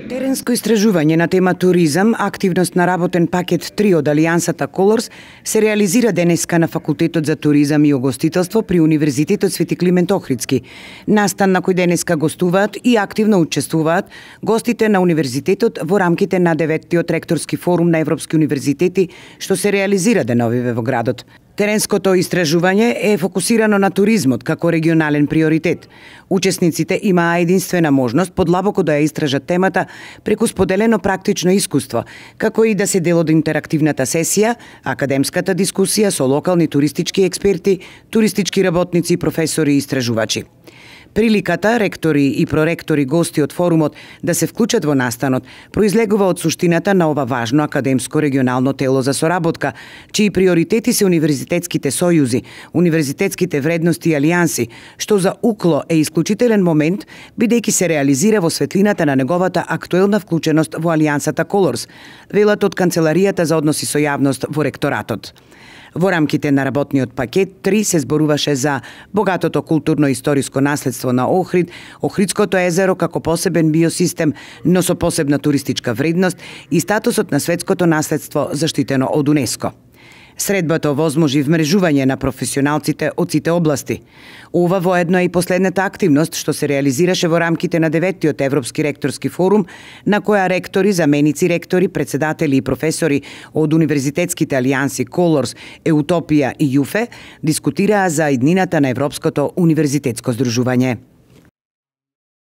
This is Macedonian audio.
Теренско истражување на тема туризам, активност на работен пакет 3 од Алијансата Колорс се реализира денеска на Факултетот за туризам и угостителство при Универзитетот Свети Климент Охридски. Настан на кој денеска гостуваат и активно учествуваат гостите на универзитетот во рамките на 9-тиот ректорски форум на европски универзитети што се реализира деновиве во градот. Теренското истражување е фокусирано на туризмот како регионален приоритет. Учесниците имаа единствена можност подлабоко да ја истражат темата преку споделено практично искуство, како и да се дел од интерактивната сесија, академската дискусија со локални туристички експерти, туристички работници и професори и истражувачи. Приликата, ректори и проректори гости од форумот да се вклучат во настанот, произлегува од суштината на ова важно академско регионално тело за соработка, чии приоритети се универзитетските сојузи, универзитетските вредности и алијанси, што за УКЛО е исклучителен момент, бидејќи се реализира во светлината на неговата актуелна вклученост во Алијансата Колорс, велат од Канцеларијата за односи со јавност во ректоратот. Во рамките на работниот пакет 3 се зборуваше за богатото културно-историско наследство на Охрид, Охридското езеро како посебен биосистем, но со посебна туристичка вредност и статусот на светското наследство заштитено од УНЕСКО. Средбата овозможи вмрежување на професионалците од сите области. Ова воедно е и последната активност што се реализираше во рамките на 9-тиот Европски ректорски форум, на која ректори, заменици ректори, председатели и професори од универзитетските алијанси Колорс, Еутопија и јуфе дискутираа за иднината на Европското универзитетско здружување.